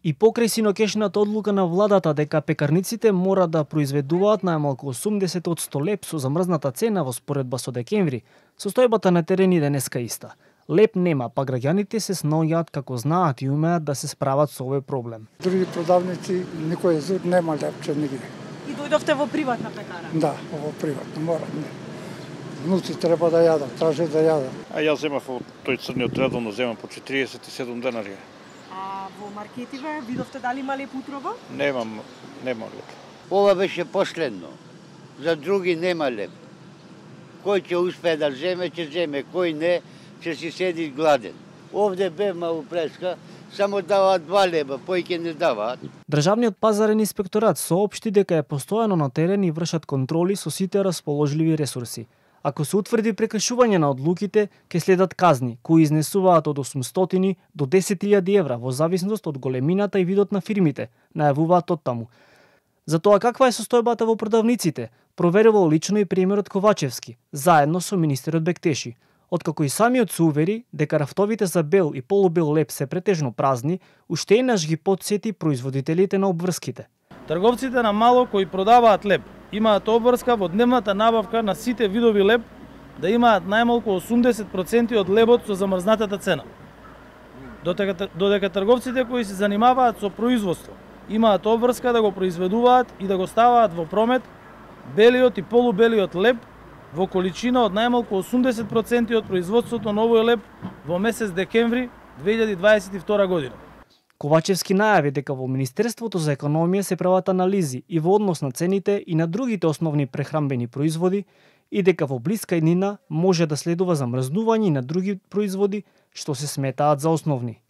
И покрај синокешната одлука на владата дека пекарниците мора да произведуваат најмалку 80% леб со замрзната цена во споредба со декември, состојбата на терен и денеска иста. Леб нема, па граѓаните се снаоѓаат како знаат и умеат да се справат со овој проблем. Други продавници никој зуд нема лебче нигде. И дојдовте во приватна пекара? Да, во приватна, мора. Внуци треба да јадат, траже да јадат. А јас земав од тој црниот редовно земам по 47 денари. А во маркетиве видовте дали има леб утрово? Нема леб. Ова беше последно. За други нема леб. Кој ќе успее да земе, ќе земе, кој не, ќе си седи гладен. Овде бев малку преска, само даваат 2 леба, поиќе не даваат. Државниот пазарен инспекторат соопшти дека е постојано на терен и вршат контроли со сите расположливи ресурси. Ако се утврди прекршување на одлуките, ќе следат казни, кои изнесуваат од 800 до 10.000 евра во зависност од големината и видот на фирмите, најавуваат оттаму. За тоа каква е состојбата во продавниците, проверувал лично и премиерот Ковачевски, заедно со министерот Бектеши. Откако и самиот се увери дека рафтовите за бел и полубел леб се претежно празни, уште еднаш ги потсети производителите на обврските. Трговците на мало кои продаваат леб имаат обврска во дневната набавка на сите видови леб да имаат најмалку 80% од лебот со замрзнатата цена. Додека трговците кои се занимаваат со производство имаат обврска да го произведуваат и да го ставаат во промет белиот и полубелиот леб во количина од најмалку 80% од производството на овој леб во месец декември 2022 година. Ковачевски најави дека во Министерството за економија се прават анализи и во однос на цените и на другите основни прехранбени производи и дека во блиска иднина може да следува замрзнување и на други производи што се сметаат за основни.